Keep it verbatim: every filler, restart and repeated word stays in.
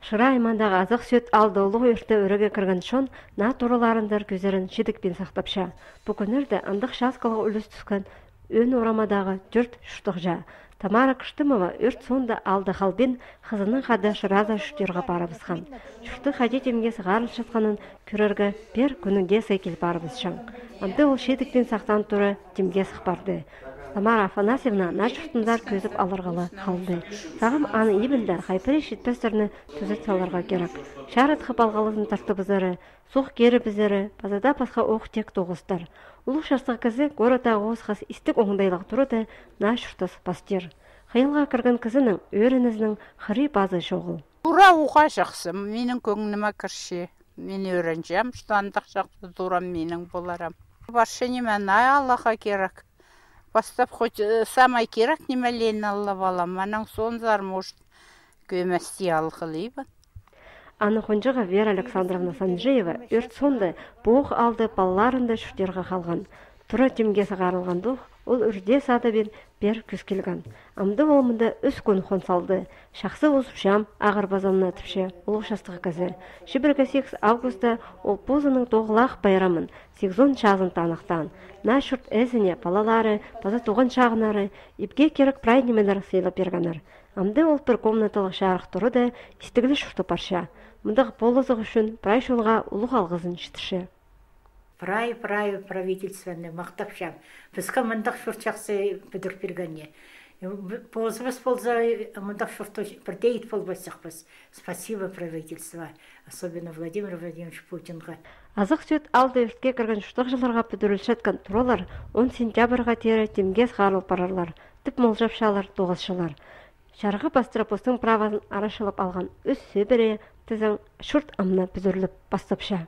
Шыра аймандағы азық сөт алды ұлығы өрті өріге кірген шон, на тураларындар көзерін шедікпен сақтапша. Бүкінірді андық шасқылығы үліс түскен өн орамадағы жүрт шұштық жа. Тамара Кыштымова өрт сонда алды халбен қызының қады шыраза шүштерға барыбызхан. Шүшті қаде темге сығарыл шатқанын көрерге бер күнінде сайкел барыбыз шаң. Амды ол шедікпен сақтан тұры темге сықпарды. Тамара Афанасьевна на шүртіндар көзіп алырғалы қалды. Сағым аны ебілді хайпыры шетпестеріні түзет саларға керек. Шарыт қып алғалысын тарты бізірі, соқ кері бізірі, базада пасқа оқ тек тоғыстар. Улық шастық кізі горыда оғыз істік оңдайлық тұрыды на шүртіс пастер. Қиылға кірген кізінің өрінізінің қыры базы шоғыл. Тура уға жақсы, менің көңініме кірші. Мен өрінжем, штандық жақсы турам менің боларам. Баршы немен ай Аллаға керек. Бастап хоть самай керек немелен алла балам, манан сон зар может көмәсти алқылыйбы. Аны Хонжыға Вера Александровна Санжеева өрт сонды бұғы алды балаларында шүштерға қалған. Тұра темге сағарылған дух, ол үрде сады бен бер күскелген. Амды олымында үс күн хон салды. Шақсы ұзып шам ағыр базанына түпше ұлық шастығы кізі. Шыбіргі сегіз августа ол позының тоғылақ байрамын сегізон шағын танықтан. На шүрт әзіне балалары, база туған шағынары, епге керек прайнемелер сейліп бергенір. Амды ол бір комнаталық шарық тұры да істігілі шүрті парша. Мұндық болызық үшін прай шолға ұлық алғызын шытышы. Прай, прай правительственный мақтапшам. Бізгі мұндақ шүрт жақсы бүдір бергенне. Позбыз болза мұндақ шүрті бірдейт болбасақ біз. Спасибо правительство, особенно Владимир Владимирович Путинға. Азық сөт алды өртке кірген шұштық жыларға бүдірілшеткен тұралар он сентябрға тері темге сғарыл парарлар, тіп молжапшалар, тоғызшылар. Шарғы бастырапостың правасын арашылып алған өз сөбірі тізің шүрт амна бүдіріліп бастапша.